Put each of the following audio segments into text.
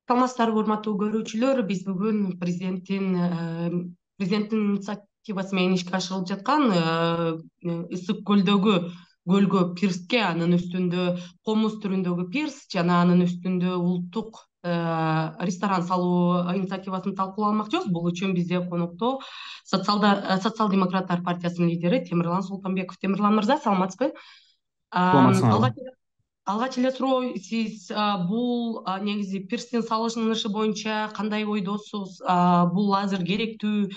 Саламатсыздарбы, урматтуу көрүүчүлөр. Биз бүгүн президенттин инициативасы менен ишке ашырылып жаткан Ысык көлгө пирске, анын үстүндө комуз түрүндөгү пирс жана анын үстүндө улуттук ресторан салуу инициативасын талкуулап алмакчыбыз. Бул үчүн бизде конокто социал-демократтар партиясынын лидери Темирлан Султанбеков. Темирлан мырза, саламатсызбы? Саламатсыңарбы? Алгач эле суроо, сиз бул негизи пирстин салынышы боюнча кандай ойдосуз? Бул азыр керектүү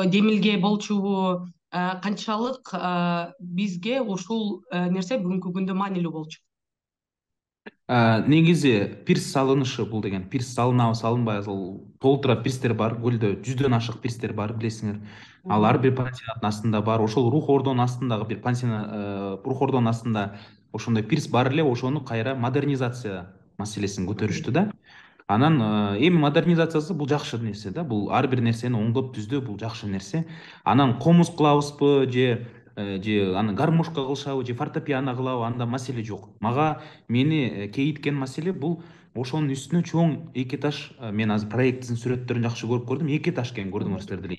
демилге болчубу? Канчалык бизге ушул нерсе бүгүнкү күндө маанилүү болчу? Негизи пирс салынышы бул деген пирс салынабы салынбайбы, толтура пирстер бар, көлдө 100дөн ашык пирстер бар, билесиңер. Ал ар бир пансионаттын астында бар. Ошол рух ордонун астындагы бир рух ордонун астында ошондой пирс бар эле, ошону кайра модернизация маселесин көтөрүштү да. Анан эми модернизациясы бул жакшы нерсе да, бул ар бир нерсени оңдоп түздөө, бул жакшы нерсе. Анан комуз кылабызбы же аны гармошка кылышабы же фортепиано кылабы, анда маселе жок. Мени кейиткен маселе бул ошонун үстүнө чоң эки этаж, мен азыр проектисин сүрөттөрүн жакшы көрүп көрдүм. Эки этаж экен, көрдүңүздөр деле.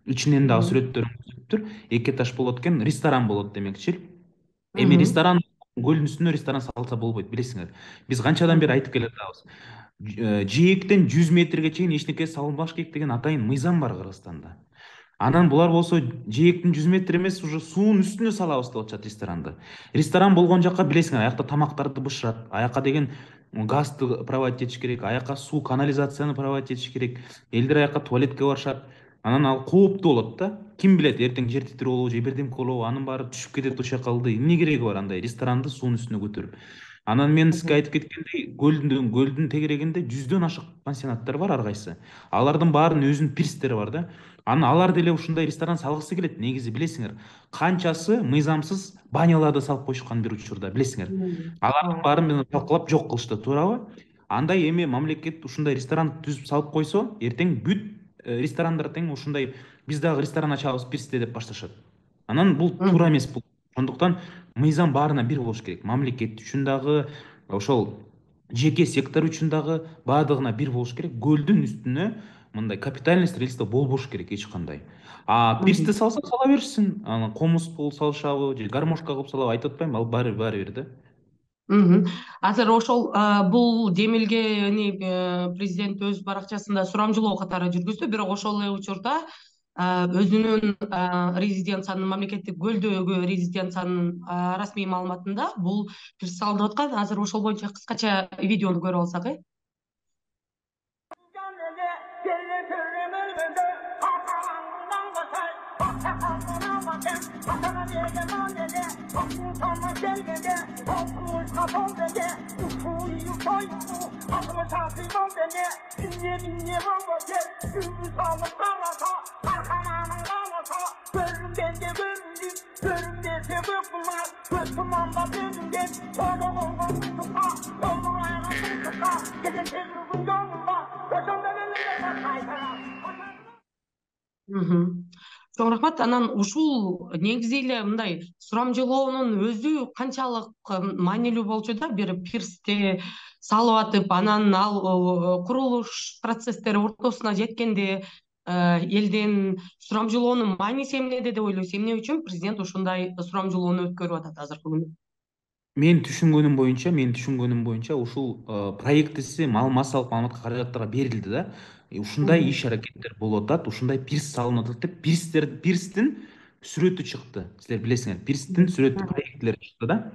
Ичинен дагы сүрөттөрүн көрсөтүптүр. Эки этаж болот экен, ресторан болот демекчи. Эми ресторан, көлдүн үстүнө ресторан салса болбойт, билесиңер. Биз канчадан бери айтып келе жатабыз. Жээктен 100 метрге чейин эчтеке салынбаш керек деген атайын мыйзам бар Кыргызстанда. Анан булар болсо жээктин 100 метр эмес, уже суунун үстүнө салабыз деп атышат ресторанды. Ресторан болгон жакка билесиңер, аякта тамактарды бышырат, аяка деген газды проводить этиш керек, аяка суу, канализацияны проводить этиш керек, элдер аяка туалетке барышат. Анан ал кооптуу болот да. Ким билет, эртең жер титирөө болобу же бирдемке болобу, анын баары түшүп кетет ошол жака. Эмне кереги бар андай ресторанды суунун үстүнө көтөрүп? Анан мен сизге айтып кеткендей, көлдүн тегерегинде 100дөн ашык пансионаттар бар ар кайсы. Алардын баарынын өзүнүн пирстери бар да. Анан алар деле ушундай ресторан салгысы келет. Негизи билесиңер, канчасы мыйзамсыз баняларды салып коюшкан бир учурда, билесиңер. Алардын баарын мен талкалап жок кылышты, туурабы? Андай эми мамлекет ушундай ресторан түзүп салып койсо, эртең бүт ресторандар тең ушундай биз дагы ресторан ачабыз пирсте деп башташат. Анан бул туура эмес бул. Ошондуктан мыйзам баарына бир болуш керек. Мамлекет үчүн дагы, ошол жеке сектор үчүн дагы баардыгына бир болуш керек. Көлдүн үстүнө мындай капитальный строительство болбош керек эч кандай. Пирсти салса сала беришсин. Анан комуз кылып салышабы же гармошка кылып салабы айтып атпаймынбы, ал баары бир да. Азыр ошол бул демилгени президент өз баракчасында сурамжылоо катары жүргүздү, бирок ошол эле учурда өзүнүн резиденциянын, мамлекеттик көлдөгү резиденциянын расмий маалыматында бул пирс салынып аткан. Азыр ошол боюнча кыскача видеону көрүп алсак. Чоң рахмат. Анан ушул негизи эле мындай сурамжылоонун өзү канчалык маанилүү болчу да, бир пирсти салып атып, анан ал курулуш процесстери ортосуна жеткенде элден сурамжылоонун мааниси эмнеде деп ойлойсуз? Эмне үчүн президент ушундай сурамжылоону өткөрүп атат азыркы күндө? Менин түшүнгөнүм боюнча ушул проектиси массалык маалыматка каражаттарга берилди да. Ушундай иш аракеттер болуп атат, ушундай пирс салынып атат деп пирстин сүрөтү чыкты. Силер билесиңер, пирстин сүрөтү, проекттери чыкты да.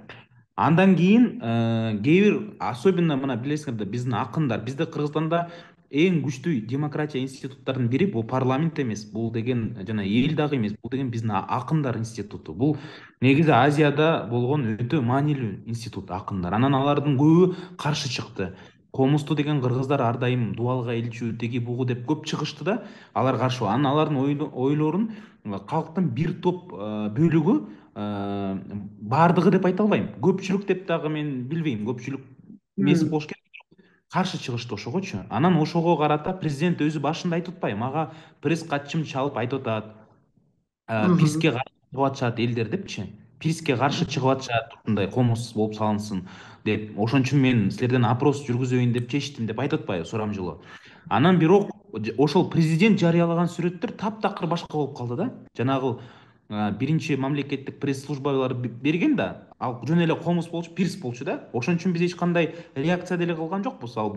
Андан кийин кээ бир, особенно мына билесиңер да, биздин акындар, бизде Кыргызстанда эң күчтүү демократия институттарынын бири бул парламент эмес, бул деген жана эл дагы эмес, бул деген биздин акындар институту. Бул негизи Азияда болгон өтө маанилүү институт акындар. Анан алардын көбү каршы чыкты. Комузду деген кыргыздар ар дайым дубалга илчү, теги бугу деп көп чыгышты да, алар каршы. Анан алардын ойлорун калктын бир топ бөлүгү, баардыгы деп айта албайм, көпчүлүк деп дагы мен билбейм, көпчүлүк эмес болуш керек, каршы чыгышты ошогочу. Анан ошого карата президент өзү башында айтып атпайбы, мага пресс катчым чалып айтып атат, пирске каршы чыгып атышат элдер депчи. пирске каршы чыгып атышат, ушундай комуз болуп салынсын деп. Ошон үчүн мен силерден опрос жүргүзөйүн деп чечтим деп айтып атпайбы Сурамжылоо. Анан бирок ошол президент жарыялаган сүрөттөр таптакыр башка болуп калды да. Жанагы биринчи мамлекеттик пресс службалар берген да, ал жөн эле комуз болчу, пирс болчу да. Ошон үчүн биз эч кандай реакция деле кылган жокпуз. Ал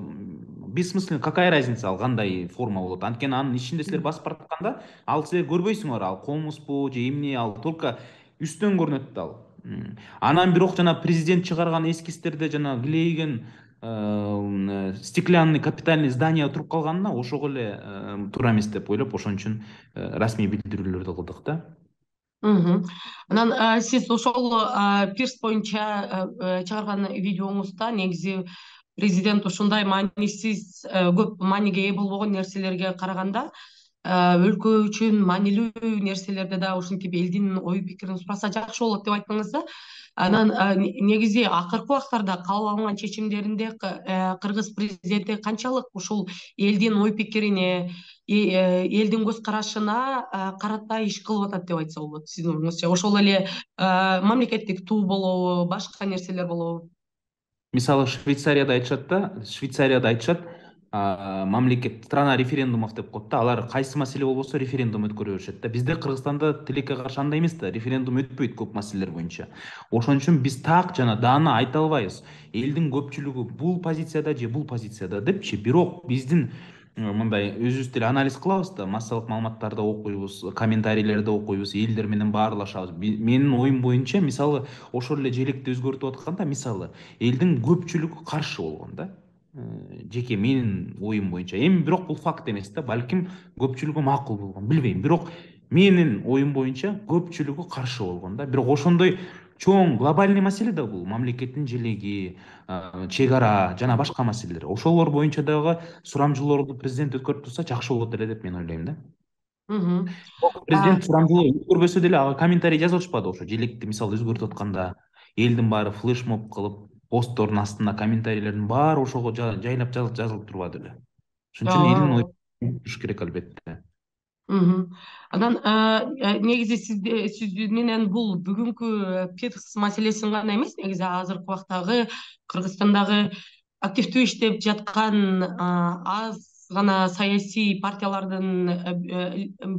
бессмысленно, какая разница ал кандай форма болот. Анткени анын ичинде силер басып баратканда ал силер көрбөйсүңөр, ал комузбу же эмне, ал только үстөн көрүнөт да ал. Анан бирок жана президент чыгарган эскизтерде жана килейген стеклянный капитальный здание туруп калганына ошого эле туура эмес деп ойлоп, ошон үчүн расмий билдирүүлөрдү кылдык да. Мгм. Анан сиз ошол пирс боюнча чыгарган видеоңузда негизи президент ушундай маанисиз, көп мааниге ээ болбогон нерселерге караганда өлкө үчүн маанилүү нерселерде да ушинтип элдин ой пикирин сураса жакшы болот деп айттыңыз да. Анан негизи акыркы убактарда кабыл алынган чечимдеринде кыргыз президенти канчалык ушул элдин ой пикирине, элдин көз карашына карата иш кылып атат деп айтса болот сиздин оюңузча? Ошол эле мамлекеттик туу болобу, башка нерселер болобу? Мисалы Швейцарияда айтышат, мамлекет страна референдумов деп коет да. Алар кайсы маселе болбосо референдум өткөрө беришет да. Бизде Кыргызстанда тилекке каршы андай эмес да, референдум өтпөйт көп маселелер боюнча. Ошон үчүн биз так жана даана айта албайбыз элдин көпчүлүгү бул позицияда же бул позицияда депчи. Бирок биздин мындай өзүбүз деле анализ кылабыз да, массалык маалыматтарды окуйбуз, комментарийлерди окуйбуз, элдер менен баарлашабыз. Менин оюм боюнча, мисалы ошол эле желекти өзгөртүп атканда, мисалы элдин көпчүлүгү каршы болгон да. Жеке менин оюм боюнча. Эми бирок бул факт эмес да. Балким көпчүлүгү макул болгон, билбейм. Бирок менин оюм боюнча көпчүлүгү каршы болгон да. Бирок ошондой чоң глобальный маселе да бул. Мамлекеттин желеги, чек ара жана башка маселелер. Ошолор боюнча дагы сурамжылоорду президент өткөрүп турса жакшы болот эле деп мен ойлойм да. Мгм. Президент сурамжылоо өткөрбөсө деле ага комментарий жазып атышпады ошо желекти мисалы өзгөртүп атканда. Элдин баары флешмоб кылып, посттордун астына комментарийлердин баары ошого жайлап жазылып турбады беле. Ошон үчүн элдин Ооба. оюн туруш керек албетте. Мгм. Анан негизи сиз менен бул бүгүнкү пирс маселесин гана эмес, негизи азыркы убактагы Кыргызстандагы активдүү иштеп жаткан аз гана саясий партиялардын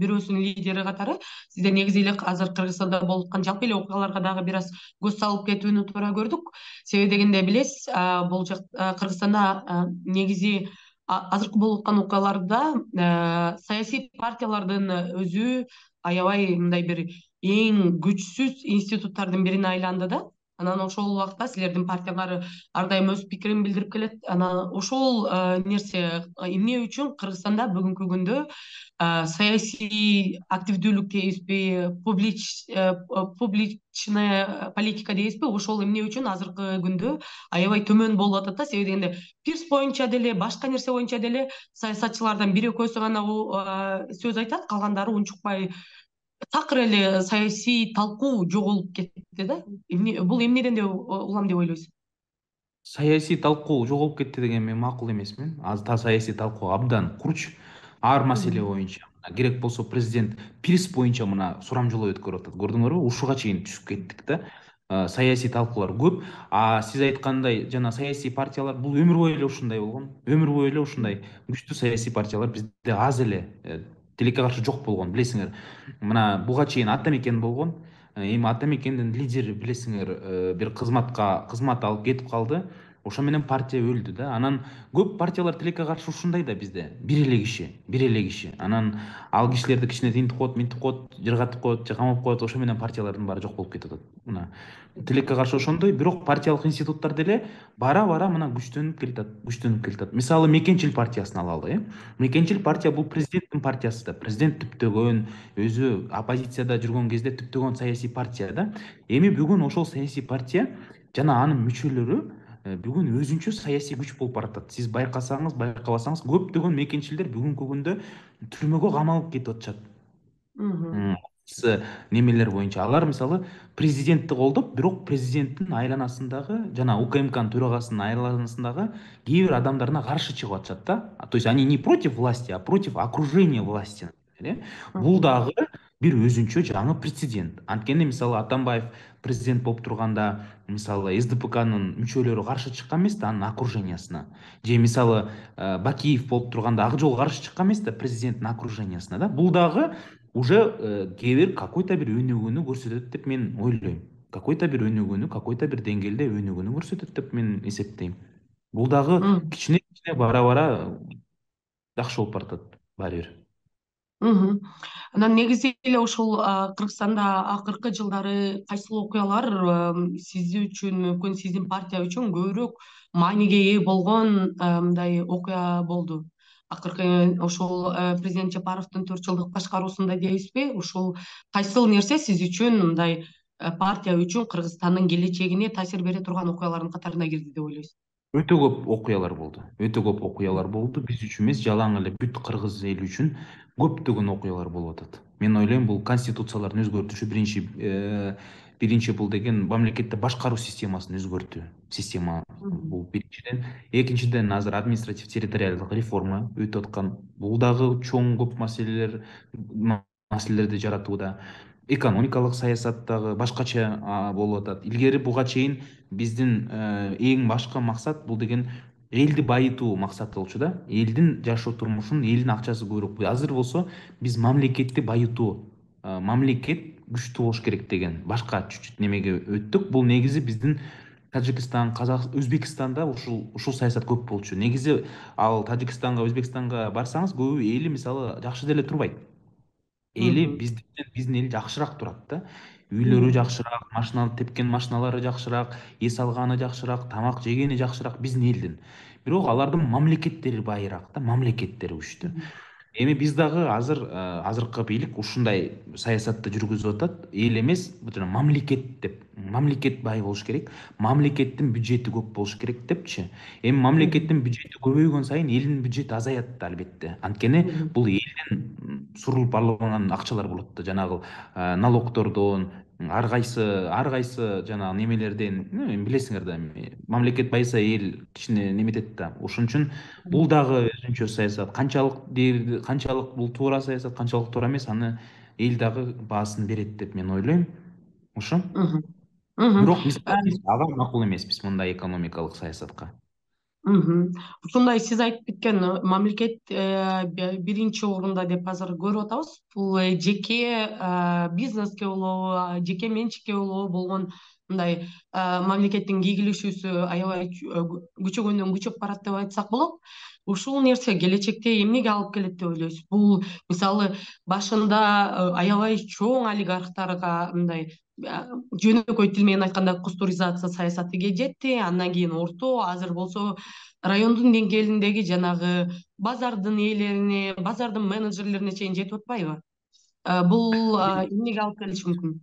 бирөөсүнүн лидери катары сизде негизи эле азыр Кыргызстанда болуп аткан жалпы эле окуяларга дагы бир аз көз салып кетүүнү туура көрдүк. Себеби дегенде билесиз, бул Кыргызстанда негизи азыркы болуп аткан окуяларда саясий партиялардын өзү аябай мындай бир эң күчсүз институттардын бирине айланды да. Анан ошол убакта силердин партиялар ар дайым өз пикирин билдирип келет. Анан ошол нерсе эмне үчүн Кыргызстанда бүгүнкү күндө саясий активдүүлүк дейбизби, публичная политика дейбизби, ошол эмне үчүн азыркы күндө аябай төмөн болуп атат да. Себеби дегенде пирс боюнча деле башка нерсе боюнча деле саясатчылардан бир экөөсү гана сөз айтат, калгандары унчукпай такыр эле саясий талкуу жоголуп кетти да. Бул эмнеден деп улам деп ойлойсуз? Саясий талкуу жоголуп кетти деген мен макул эмесмин. Саясий талкуу абдан курч. Ар маселе Мгм. боюнча керек болсо президент пирс боюнча мына сурамжылоо өткөрүп атат. Көрдүңөрбү? Ушуга чейин түшүп кеттик да. Саясий талкуулар көп. Сиз айткандай жана саясий партиялар бул өмүр бою эле ушундай болгон. Өмүр бою эле ушундай күчтүү саясий партиялар бизде аз эле, тилекке каршы жок болгон, билесиңер. Мына буга чейин ата мекен болгон. Эми ата мекендин лидери билесиңер, бир кызмат алып кетип калды. Ошо менен партия өлдү да. Анан көп партиялар тилекке каршы ушундай да бизде. Бир эле киши. Анан ал кишилерди кичине тинтип коет, минтип коет, жыргатып коет же камап коет. Ошо менен партиялардын баары жок болуп кетип атат. Мына тилекке каршы ошондой, бирок партиялык институттар деле бара бара мына күчтөнүп келатат, күчтөнүп келатат. Мисалы Мекенчил партиясын алалы, Мекенчил партия бул президенттин партиясы да. Президент түптөгөн, өзү оппозицияда жүргөн кезде түптөгөн саясий партия да. Эми бүгүн ошол саясий партия жана анын мүчөлөрү бүгүн өзүнчө саясий күч болуп баратат. Сиз байкасаңыз, байкабасаңыз көптөгөн мекенчилдер бүгүнкү күндө түрмөгө камалып кетип атышат. Мгм. Немелер боюнча алар мисалы президентти колдоп, бирок президенттин айланасындагы жана УКМКнын төрагасынын айланасындагы кээ бир адамдарына каршы чыгып атышат да. То есть они не против власти, а против окружения власти. Бул Мгм. дагы бир өзүнчө жаңы прецедент. Анткени мисалы Атамбаев президент болуп турганда мисалы СДПКнын мүчөлөрү каршы чыккан эмес да анын окружениясына. Же мисалы Бакиев болуп турганда Ак Жол каршы чыккан эмес да президенттин окружениясына да. Бул дагы уже кээ бир какой-то бир өнүгүүнү көрсөтөт деп мен ойлойм. Какой-то бир өнүгүүнү, какой-то бир деңгээлде өнүгүүнү көрсөтөт деп мен эсептейм. Бул дагы Мгм. кичине кичине бара бара жакшы болуп баратат баары бир. Мгм. Анан негизи эле ушул Кыргызстанда акыркы жылдары кайсыл окуялар сиз үчүн мүмкүн сиздин партия үчүн көбүрөөк мааниге ээ болгон мындай окуя болду? Акыркы ушул президент Жапаровдун 4 жылдык башкаруусунда дейбизби? Ушул кайсыл нерсе сиз үчүн мындай партия үчүн Кыргызстандын келечегине таасир бере турган окуялардын катарына кирди деп ойлойсуз? Өтө көп окуялар болду. Өтө көп окуялар болду. Биз үчүн эмес, жалаң эле бүт кыргыз эли үчүн көптөгөн окуялар болуп атат. Мен ойлойм, бул конституциялардын өзгөртүшү биринчи бул деген мамлекетти башкаруу системасын өзгөртүү. Система Мгм. бул биринчиден. Экинчиден, азыр административ территориалдык реформа өтүп аткан. Бул дагы чоң көп маселелерди жаратууда. Экономикалык саясат дагы башкача болуп атат. Илгери буга чейин биздин эң башкы максат бул деген элди байытуу максаты болчу да. Элдин жашоо турмушун, элдин акчасы көбүрөөк. Азыр болсо биз мамлекетти байытуу, мамлекет күчтүү болуш керек деген башка чуть-чуть немеге өттүк. Бул негизи биздин Тажикстан, Өзбекстанда ушул саясат көп болчу. Негизи ал Тажикстанга, Өзбекстанга барсаңыз, көбү эли мисалы жакшы деле турбайт. Эли Мгм. биздин эл жакшыраак турат да. Үйлөрү Мгм. жакшыраак, машина тепкен машиналары жакшыраак, эс алганы жакшыраак, тамак жегени жакшыраак биздин элдин. Бирок алардын мамлекеттери байыраак да, мамлекеттери күчтүү. Мгм. Эми биз дагы азыркы бийлик ушундай саясатты жүргүзүп атат. Эл эмес, жана мамлекет деп. Мамлекет бай болуш керек. Мамлекеттин бюджети көп болуш керек депчи. Эми Мгм. мамлекеттин бюджети көбөйгөн сайын элдин бюджети азаят да албетте. Анткени Мгм. бул элдин сурулуп алынган акчалар болот да, жанагы налогтордон, ар кайсы жанагы немелерден, билесиңер да, эми мамлекет байыса эл кичине неметет да. Ошон үчүн бул дагы өзүнчө саясат. Канчалык бул туура саясат, канчалык туура эмес, аны эл дагы баасын берет деп мен ойлойм. Ошо. Мгм. Мгм. Бирок мисалы биз ага макул эмеспиз мындай экономикалык саясатка. Мгм. Ушундай сиз айтып кеткен мамлекет биринчи орунда деп азыр көрүп атабыз. Бул жеке бизнеске болобу, жеке менчикке болобу болгон мындай мамлекеттин ийгилишүүсү аябай күчөгөндөн күчөп барат деп айтсак болот. Ушул нерсе келечекте эмнеге алып келет деп ойлойсуз? Бул мисалы башында аябай чоң олигархтарга мындай жөнөкөй тил менен айтканда кустуризация саясаты жетти, андан кийин орто, азыр болсо райондун деңгээлиндеги жанагы базардын ээлерине, базардын менеджерлерине чейин жетип атпайбы? Бул эмнеге алып келиши мүмкүн?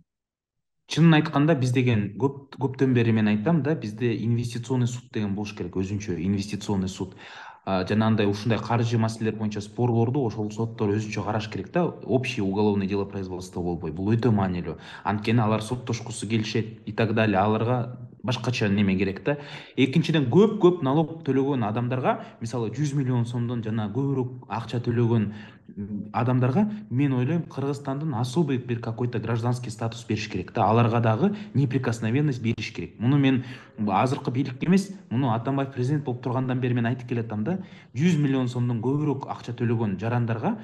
Чынын айтканда биз деген көптөн бери мен айтам да, бизде инвестиционный суд деген болуш керек, өзүнчө инвестиционный суд. Жанагындай ушундай каржы маселелер боюнча спорлорду ошол соттор өзүнчө караш керек да, общее уголовное дело производства болбой. Бул өтө маанилүү. Анткени алар соттошкусу келишет и так далее. Аларга башкача неме керек да. Экинчиден, көп налог төлөгөн адамдарга, мисалы 100 миллион сомдон жана көбүрөөк акча төлөгөн адамдарга мен ойлойм Кыргызстандын особый бир какой-то гражданский статус бериш керек да. Аларга дагы неприкосновенность бериш керек. Муну мен азыркы бийликке эмес, муну Атамбаев президент болуп тургандан бери мен айтып келатам да. 100 миллион сомдон көбүрөөк акча төлөгөн жарандарга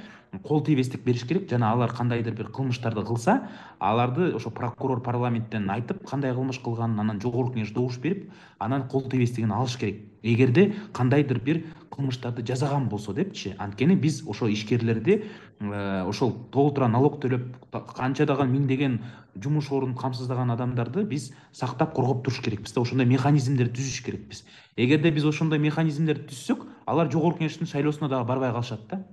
кол тийбестик бериш керек. Жана алар кандайдыр бир кылмыштарды кылса, аларды ошо прокурор парламенттен айтып, кандай кылмыш кылганын, анан жогорку кеңеш добуш берип, анан кол тийбестигин алыш керек. Эгерде кандайдыр бир кылмыштарды жасаган болсо депчи. Анткени биз ошо ишкерлерди ошол толтура налог төлөп канчадаган миңдеген жумуш ордун камсыздаган адамдарды биз сактап коргоп туруш керекпиз да. Ошондой механизмдерди түзүш керекпиз. Эгерде биз ошондой механизмдерди түзсөк, алар жогорку кеңештин шайлоосуна дагы барбай калышат да.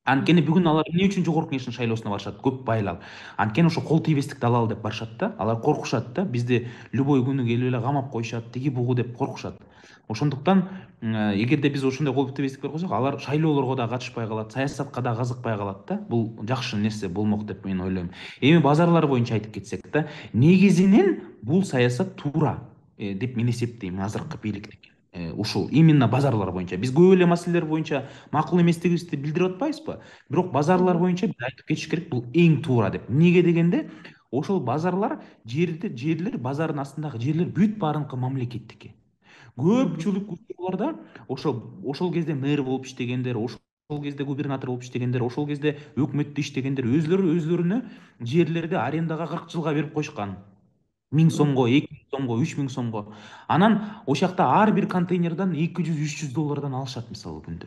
Анткени бүгүн алар эмне үчүн жогорку кеңештин шайлоосуна барышат? Көп байлар. Анткени ошо кол тийбестикти алалы деп барышат да. Алар коркушат да. Бизди любой күнү келип эле камап коюшат, тиги бугу деп коркушат. Ошондуктан эгерде биз ошондой кол тийбестик берип койсок, алар шайлоолорго да катышпай калат, саясатка да кызыкпай калат да. Бул жакшы нерсе болмок деп мен ойлойм. Эми базарлар боюнча айтып кетсек да, негизинен бул саясат туура деп мен эсептейм азыркы бийликтики. ушул именно базарлар боюнча биз көп эле маселелер боюнча макул эместигибизди билдирип атпайбызбы, бирок базарлар боюнча биз айтып кетиш керек, бул эң туура деп. Эмнеге дегенде, ошол базарлар, жерлер, базардын астындагы жерлер бүт баарыныкы мамлекеттики. Көпчүлүк учурларда ошол кезде мэр болуп иштегендер, ошол кезде губернатор болуп иштегендер, ошол кезде өкмөттө иштегендер өзлөрүнө жерлерди арендага 40 жылга берип коюшкан. 1000 сомго, 2000 сомго, 3000 сомго. Анан ошол жакта ар бир контейнерден 200-300 доллардан алышат мисалы күндө.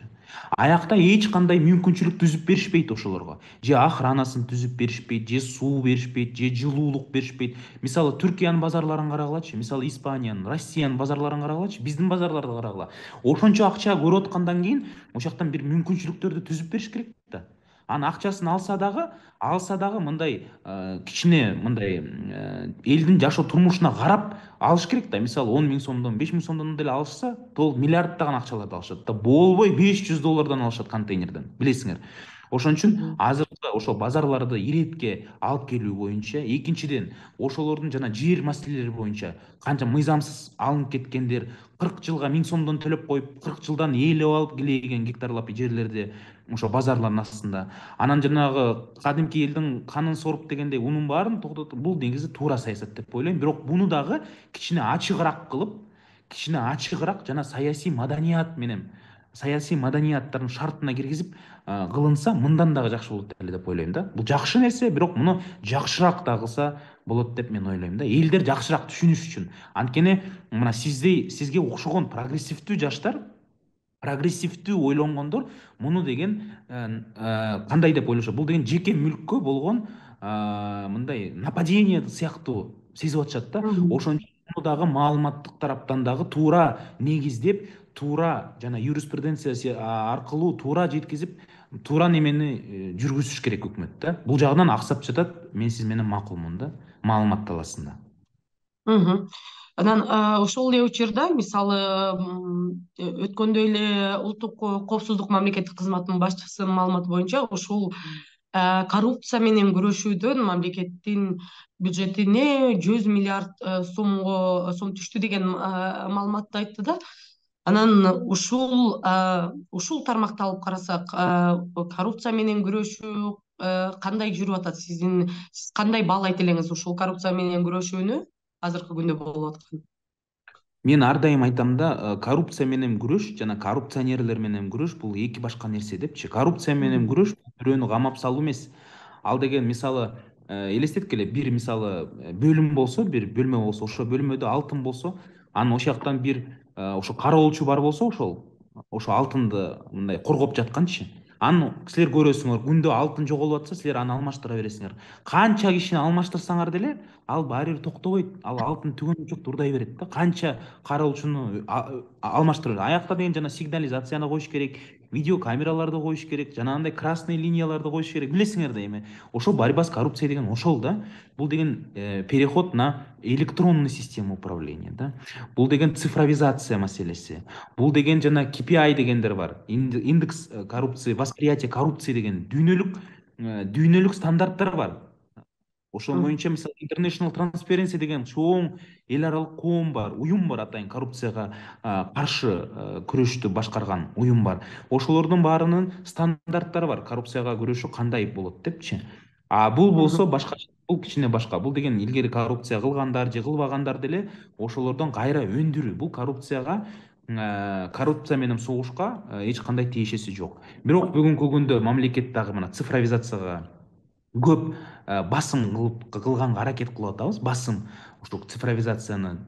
Аякта эч кандай мүмкүнчүлүк түзүп беришпейт ошолорго. Же охранасын түзүп беришпейт, же суу беришпейт, же жылуулук беришпейт. Мисалы Түркиянын базарларын карагылачы, мисалы Испаниянын, Россиянын базарларын карагылачы, биздин базарларды карагыла. Ошончо акча көрүп аткандан кийин ошол жактан бир мүмкүнчүлүктөрдү түзүп бериш керек да. Анын акчасын алса дагы мындай кичине мындай элдин жашоо турмушуна карап алыш керек да. Мисалы 10 000 сомдон, 5 000 сомдон деле алышса, тол миллиарддаган акчаларды алышат да. Болбой 500 доллардан алышат контейнерден, билесиңер. Ошон үчүн азыркы ошол базарларды иретке алып келүү боюнча, экинчиден ошолордун жана жер маселелери боюнча канча мыйзамсыз алынып кеткендер, 40 жылга 1000 сомдон төлөп коюп, 40 жылдан ээлеп алып келеген гектарлап жерлерди ошо базарлардын астында. Анан жанагы кадимки элдин канын соруп дегендей унун баарын токтотуп, бул негизи туура саясат деп ойлойм. Бирок буну дагы кичине ачыгыраак кылып, кичине ачыгыраак жана саясий маданияттардын шартына киргизип кылынса, мындан дагы жакшы болот эле деп ойлойм да. Бул жакшы нерсе, бирок муну жакшыраак да кылса болот деп мен ойлойм да. Элдер жакшыраак түшүнүш үчүн. Анткени мына сизге окшогон прогрессивдүү жаштар, прогрессивдүү ойлонгондор муну деген кандай деп ойлошот? Бул деген жеке мүлккө болгон мындай нападение сыяктуу сезип атышат да. Ошон үчүн муну дагы маалыматтык тараптан дагы туура негиздеп, туура жана юриспруденция аркылуу туура жеткизип, туура немени жүргүзүш керек өкмөт да. Бул жагынан аксап жатат. Мен сиз менен макулмун да, маалымат талаасында. Анан ошол эле учурда мисалы өткөндө эле улуттук коопсуздук мамлекеттик кызматынын башчысынын маалыматы боюнча ушул коррупция менен күрөшүүдөн мамлекеттин бюджетине 100 миллиард сом түштү деген маалыматты айтты да. Анан ушул тармакты алып карасак, коррупция менен күрөшүү кандай жүрүп атат? Сиз кандай баалайт элеңиз ушул коррупция менен күрөшүүнү азыркы күндө болуп аткан? Мен ар дайым айтам да, коррупция менен күрөш жана коррупционерлер менен күрөш бул эки башка нерсе депчи. Коррупция менен күрөш бирөөнү камап салуу эмес. Ал деген мисалы элестеткиле, бир мисалы бөлүм болсо, бир бөлмө болсо, ошо бөлмөдө алтын болсо, анан ошол жактан бир ошо кароолчу бар болсо, ошо алтынды мындай коргоп жатканчы. Анын силер көрөсүңөр, күндө алтын жоголуп атса, силер аны алмаштыра бересиңер. Канча кишини алмаштырсаңар деле, ал баары бир токтобойт. Ал алтын түгөнүнчө урдай берет да. Канча кароолчуну алмаштырып, аякта деген жана сигнализацияны коюш керек, видео камераларды коюш керек, жанагындай красный линияларды коюш керек. Билесиңер да эми. Ошол борьба с коррупцией деген ошол да. Бул деген переход на электронный система управления да. Бул деген цифровизация маселеси. Бул деген жана KPI дегендер бар. Индекс коррупции, восприятие коррупции деген дүйнөлүк стандарттар бар. Ошол боюнча мисалы International Transparency деген чоң эл аралык коом бар, уюм бар, атайын коррупцияга каршы күрөштү башкарган уюм бар. Ошолордун баарынын стандарттары бар. Коррупцияга күрөшүү кандай болот депчи. Бул болсо башка, бул кичине башка. Бул деген илгери коррупция кылгандар же кылбагандар деле ошолордон кайра өндүрүү. Бул коррупция менен согушка эч кандай тиешеси жок. Бирок бүгүнкү күндө мамлекет дагы мына цифровизацияга көп басым кылганга аракет кылып атабыз. Басым ушул цифровизацияны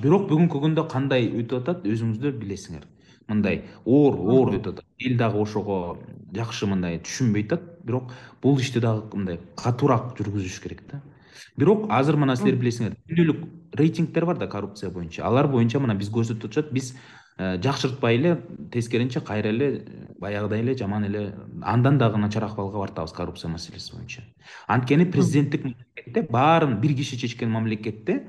бирок бүгүнкү күндө кандай өтүп атат, өзүңүздөр билесиңер. Мындай оор өтүп атат. Эл дагы ошого жакшы мындай түшүнбөй атат, бирок бул ишти дагы мындай катуураак жүргүзүш керек да. Бирок азыр мына силер билесиңер, дүйнөлүк рейтингдер бар да коррупция боюнча. Алар боюнча мына биз көрсөтүп атышат, биз жакшыртпай эле, тескеринче кайра эле баягыдай эле жаман эле, андан дагы начар акыбалга бартабыз коррупция маселеси боюнча. Анткени президенттик мамлекетте, баарын бир киши чечкен мамлекетте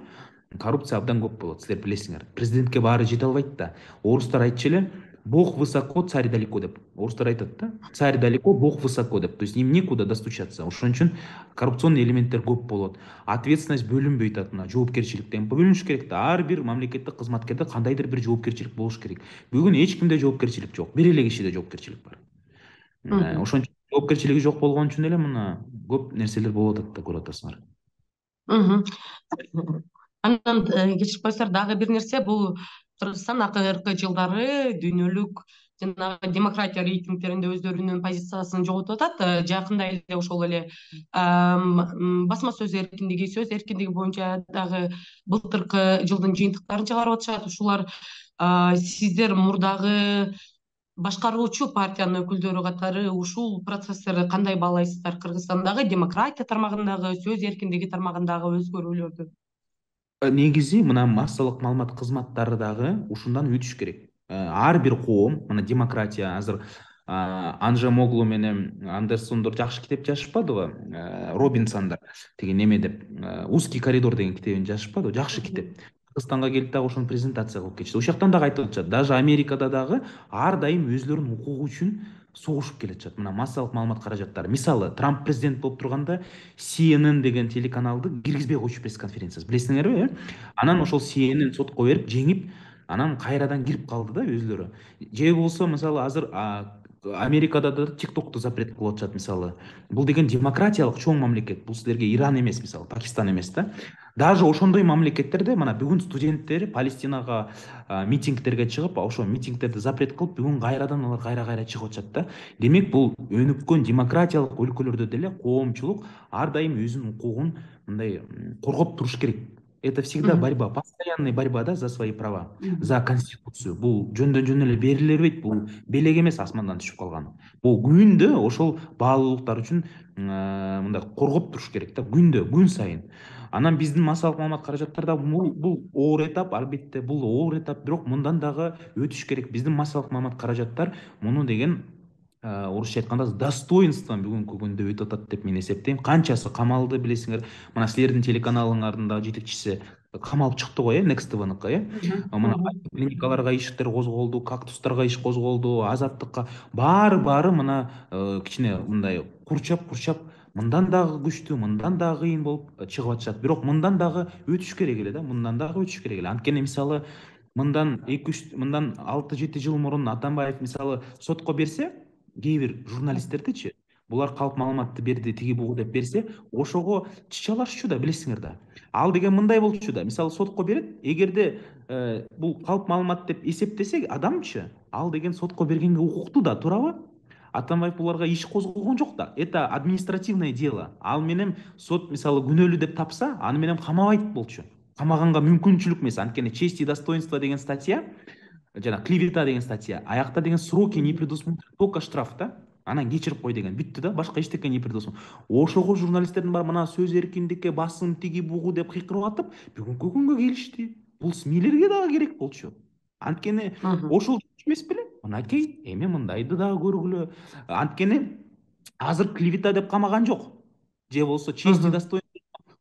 коррупция абдан көп болот, силер билесиңер. Президентке баары жете албайт да. Орустар айтчу эле, Бог высоко, царь далеко деп. Орыстар айтат да. Царь далеко, Бог высоко деп. То есть им некуда достучаться. Ошон үчүн коррупционный элементтер көп болот. Ответственность бөлүнбөй атат, мына жоопкерчиликтен бөлүнүш керек да. Ар бир мамлекеттик кызматкерде кандайдыр бир жоопкерчилик болуш керек. Бүгүн эч кимде жоопкерчилик жок. Бир эле кишиде жоопкерчилик бар. Мгм. Ошон үчүн жоопкерчилиги жок болгон үчүн эле мына көп нерселер болуп атат да, көрүп атасыңар. Мгм. Андан кечирип койсоңор дагы бир нерсе, бул Кыргызстан акыркы жылдары дүйнөлүк жанагы демократия рейтингтеринде өздөрүнүн позициясын жоготуп атат. Жакында эле ошол эле басма сөз эркиндиги боюнча дагы былтыркы жылдын жыйынтыктарын чыгарып атышат. Ушулар сиздер мурдагы башкаруучу партиянын өкүлдөрү катары ушул процесстерди кандай баалайсыздар? Кыргызстандагы демократия тармагындагы, сөз эркиндиги тармагындагы өзгөрүүлөрдү? Негизи мына массалык маалымат кызматтары дагы ушундан өтүш керек. Ар бир коом, мына демократия азыр Анжемоглу менен Андерсондор жакшы китеп жазышпадыбы? Робинсондар тиги неме деп, узкий коридор деген китебин жазышпадыбы? Жакшы китеп. Кыргызстанга келип дагы ошону презентация кылып кетишти. Ошол жактан дагы айтып атышат. Даже Америкада дагы ар дайым өзлөрүнүн укугу үчүн согушуп келатышат. Мына массалык маалымат каражаттары. Мисалы, Трамп президент болуп турганда CNN деген телеканалды киргизбей койчу пресс-конференциясы. Билесиңерби, Анан ошол CNN сотко берип, жеңип, анан кайрадан кирип калды да өзлөрү. Же болсо, мисалы, азыр Америкада да TikTok'ту запрет кылып атышат, мисалы. Бул деген демократиялык чоң мамлекет. Бул силерге Иран эмес, мисалы, Пакистан эмес да. Даже ошондой мамлекеттерде мына бүгүн студенттер Палестинага митингтерге чыгып, ошо митингтерди запрет кылып, бүгүн кайрадан алар кайра чыгып атышат да. Демек, бул өнүккөн демократиялык өлкөлөрдө деле коомчулук ар дайым өзүнүн укугун мындай коргоп туруш керек. Это всегда Мгм. борьба, постоянная борьба, да, за свои права, Мгм. за конституцию. Бул жөндөн жөн эле бериле бербейт, бул белек эмес асмандан түшүп калган. Бул күндө ошол баалуулуктар үчүн мындай коргоп туруш керек да, күн сайын. Анан биздин массалык маалымат каражаттарда бул оор этап, албетте бул оор этап, бирок мындан дагы өтүш керек. Биздин массалык маалымат каражаттар муну деген орусча айтканда с достоинством бүгүнкү күндө өтүп атат деп мен эсептейм. Канчасы камалды билесиңер. Мына силердин телеканалыңардын дагы жетекчиси камалып чыкты го, Next TV'ныкы, Мгм. мына Мгм. клиникаларга иштер козголду, кактустарга иш козголду, азаттыкка баары мына кичине мындай курчап мындан дагы күчтүү, мындан дагы кыйын болуп чыгып атышат. Бирок мындан дагы өтүш керек эле да, мындан дагы өтүш керек эле. Анткени мисалы мындан 6-7 жыл мурун Атамбаев мисалы сотко берсе, кээ бир журналисттердичи, булар калп маалыматты берди, тиги бугу деп берсе, ошого чычалашчу да, билесиңер да. Ал деген мындай болчу да, мисалы сотко берет, эгерде бул калп маалымат деп эсептесе адамчы, ал деген сотко бергенге укуктуу да, туурабы? Атамбаев буларга иш козгогон жок да. Это административное дело. Ал менен сот мисалы күнөөлүү деп тапса, аны менен камабайт болчу. Камаганга мүмкүнчүлүк эмес. Анткени честь и достоинство деген статья, жана клевета деген статья, аякта деген сроки не предусмотрены, только штраф да. Анан кечирип кой деген бүттү да, башка эчтеке не предусмотрено. Ошого журналисттердин баары мына сөз эркиндикке басым тиги бугу деп кыйкырып атып, бүгүнкү күнгө келишти. Бул СМИлерге дагы керек болчу. Анткени Мгм. ошол эмес беле? Мынакей, эми мындайды дагы көргүлө. Анткени азыр клевета деп камаган жок. Же болсо честь и Мгм. достоинство,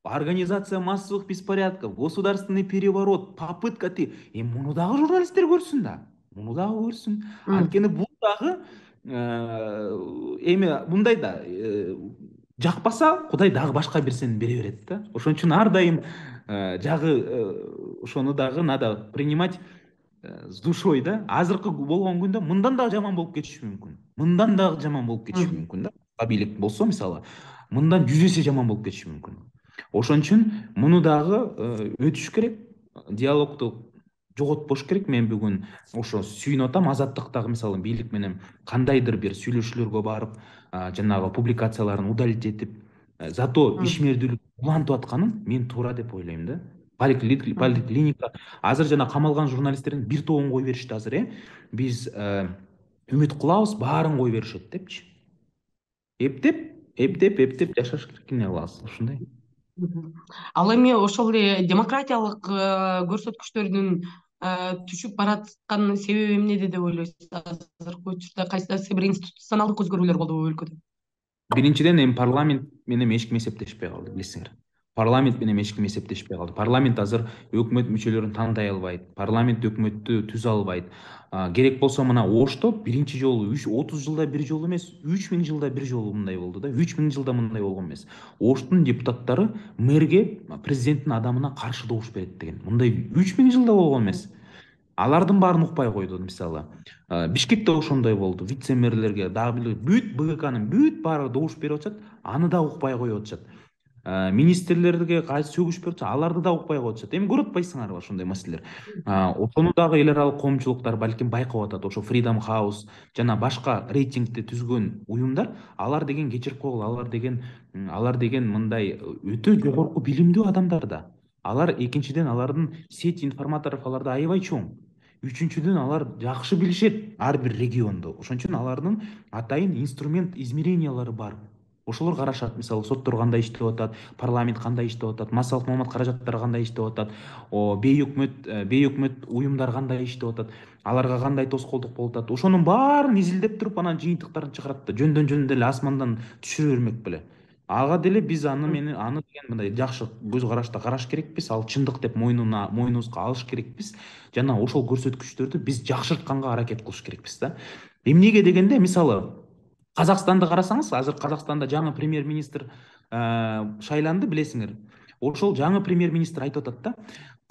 организация массовых беспорядков, государственный переворот, попытка муну дагы журналисттер көрсүн да. Муну дагы көрсүн. Мгм. Анткени бул дагы эми мындай да, жакпаса Кудай дагы башка берсени бере берет да. Ошон үчүн ар дайым жагы ошону дагы надо принимать с душой да. Азыркы болгон күндө мындан дагы жаман болуп кетиши мүмкүн. Мындан дагы жаман болуп кетиши Мгм. мүмкүн да. Бийлик болсо мисалы, мындан 100 эсе жаман болуп кетиши мүмкүн. Ошон үчүн муну дагы өтүш керек. Диалогду жоготпош керек. Мен бүгүн ошо сүйүнүп атам. Азаттыктагы мисалы бийлик менен кандайдыр бир сүйлөшүүлөргө барып, жанагы публикацияларын удалить этип, зато Мгм. ишмердүүлүк улантып атканын мен туура деп ойлойм да. Мгм. Поликлиника азыр жана камалган журналисттердин бир тобун кое беришти азыр, биз үмүт кылабыз, баарын кое беришет депчи. Эптеп жашаш керек, эмне кылабыз, ушундай. Мгм. Ал эми ошол эле демократиялык көрсөткүчтөрдүн түшүп бараткан себеби эмнеде деп ойлойсуз? Азыркы учурда кайсы бир институционалдык өзгөрүүлөр болдубу өлкөдө? Биринчиден, эми парламент менен эч ким эсептешпей калды, билесиңер. парламент менен эч ким эсептешпей калды. Парламент азыр өкмөт мүчөлөрүн тандай албайт, парламент өкмөттү түзө албайт. Керек болсо мына Ошто биринчи жолу 30 жылда бир жолу эмес, 3000 жылда бир жолу мындай болду да. 3000 жылда мындай болгон эмес. Оштун депутаттары мэрге президенттин адамына каршы добуш берет деген. Мындай 3000 жылда болгон эмес. Алардын баарын укпай койду. Мисалы Бишкекте ошондой болду. Вице мэрлерге дагы бүт БГКнын бүт баары добуш берип атышат, аны да укпай коюп атышат. Министрлерге кайсы сөгүш берип атса, аларды да укпай коюп атышат. Эми көрүп атпайсыңарбы ошондой маселелер? Ошону дагы эл аралык коомчулуктар балким байкап атат. Ошо Freedom House жана башка рейтингди түзгөн уюмдар, алар деген кечирип койгула, алар деген мындай өтө жогорку билимдүү адамдар да. Алар экинчиден алардын сеть информаторов аларда аябай чоң. Үчүнчүдөн алар жакшы билишет ар бир регионду. Ошон үчүн алардын атайын инструмент измерениялары бар. Ошолор карашат. Мисалы соттор кандай иштеп атат, парламент кандай иштеп атат, массалык маалымат каражаттары кандай иштеп атат, бейөкмөт уюмдар кандай иштеп атат, аларга кандай тоскоолдук болуп атат. Ошонун баарын изилдеп туруп анан жыйынтыктарын чыгарат да, жөндөн деле асмандан түшүрө бермек беле. Ага деле биз аны деген мындай жакшы көз карашта караш керекпиз, ал чындык деп мойнубузга алыш керекпиз жана ошол көрсөткүчтөрдү биз жакшыртканга аракет кылыш керекпиз да. Эмнеге дегенде, мисалы Казакстанды карасаңыз, азыр Казакстанда жаңы премьер-министр шайланды, билесиңер. Ошол жаңы премьер-министр айтып атат да,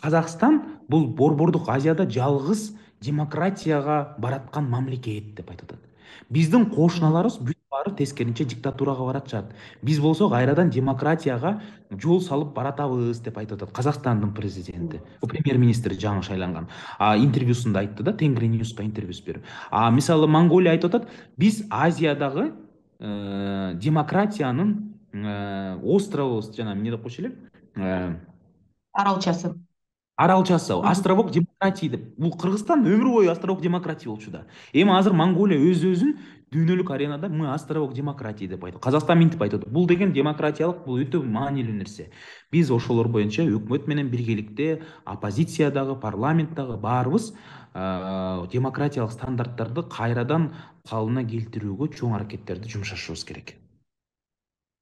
Казакстан бул Борбордук Азияда жалгыз демократияга бараткан мамлекет деп айтып атат. Биздин кошуналарыбыз бүт баары тескеринче диктатурага баратышат. Биз болсок кайрадан демократияга жол салып баратабыз деп айтып атат Казакстандын президенти. Премьер-министри жаңы шайланган. Интервьюсунда айтты да, Тенгри Ньюска интервьюс берип. Мисалы Монголия айтып атат, биз Азиядагы демократиянын островыбыз, жана эмне деп койчу элек? Аралчасы. Островок демократии деп. Бул Кыргызстан өмүр бою островок демократии болчу да. Эми азыр Монголия өзүн дүйнөлүк аренада мы островок демократии деп айтат. Казакстан минтип айтат. Бул деген демократиялык, бул өтө маанилүү нерсе. Биз ошолор боюнча өкмөт менен биргеликте, оппозициядагы, парламенттагы баарыбыз демократиялык стандарттарды кайрадан калыбына келтирүүгө чоң аракеттерди жумшашыбыз керек.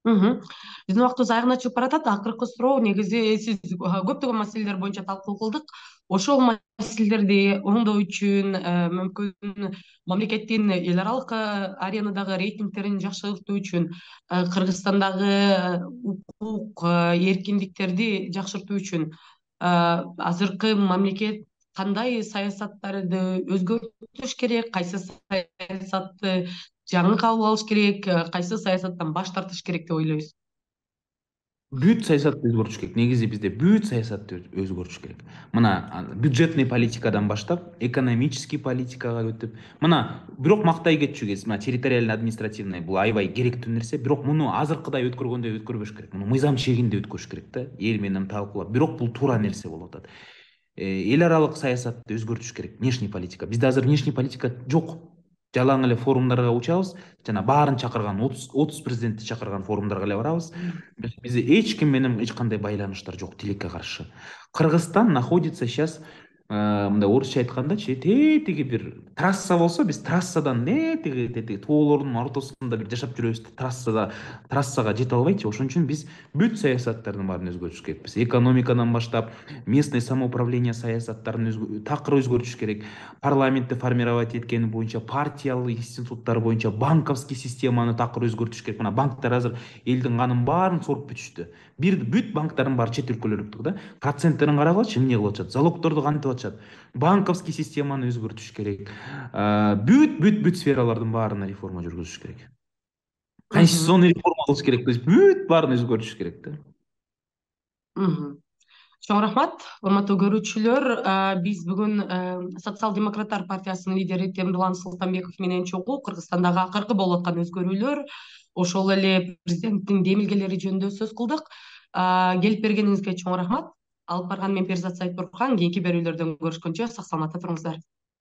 Биздин убактыбыз аягына чыгып баратат. Акыркы суроо, негизи сиз көптөгөн маселелер боюнча талкуу кылдык. Ошол маселелерди оңдоо үчүн, мүмкүн мамлекеттин эл аралык аренадагы рейтингтерин жакшыртуу үчүн, Кыргызстандагы укук эркиндиктерди жакшыртуу үчүн азыркы мамлекет кандай саясаттарды өзгөртүш керек, кайсы саясатты жаңы кабыл алыш керек, кайсы саясаттан баш тартыш керек деп ойлойсуз? Бүт саясатты өзгөртүш керек. Негизи бизде бүт саясатты өзгөртүш керек. Мына бюджетный политикадан баштап, экономический политикага өтүп, мына бирок мактай кетчүгез, мына территориально административный бул аябай керектүү нерсе, бирок муну азыркыдай өткөргөндөй өткөрбөш керек. Муну мыйзам чегинде өткөрүш керек да, эл менен талкуулап. Бирок бул туура нерсе болуп атат. Эл аралык саясатты өзгөртүш керек. Внешний политика. Бизде азыр внешний политика жок. Жалаң эле форумдарга учабыз, жана баарын чакырган 30 президентти чакырган форумдарга эле барабыз. Бизде эч ким менен эч кандай байланыштар жок тилекке каршы. Кыргызстан находится сейчас, мындай орусча айткандачы, тетиги бир трасса болсо, биз трассадан тетиги тоолордун ортосунда бир жашап жүрөбүз, трассага жете албайчы. Ошон үчүн биз бүт саясаттардын баарын өзгөртүш керекпиз. Экономикадан баштап, местный самоуправление саясаттарын такыр өзгөртүш керек. Парламентти формировать эткени боюнча, партиялык институттар боюнча банковский системаны такыр өзгөртүш керек. Мына банктар азыр элдин канын баарын соруп бүтүштү. Бүт банктардын баары чет өлкөлөрдүк да. Проценттерин карагылачы, эмне кылып атышат? Залогдорду кантип атышат? Банковский системаны өзгөртүш керек. Бүт сфералардын баарына реформа жүргүзүш керек. Конституционный реформа кылыш керек. То есть бүт баарын өзгөртүш керек да. Чоң рахмат, урматтуу көрүүчүлөр. Биз бүгүн Социал-демократтар партиясынын лидери Темирлан Султанбеков менен чогуу Кыргызстандагы акыркы болуп аткан өзгөрүүлөр, ошол эле президенттин демилгелери жөнүндө сөз кылдык. Келип бергениңизге чоң рахмат. Алып барган мен Перизат Сайтбурхан. Кийинки берүүлөрдөн көрүшкөнчө сак саламатта туруңуздар.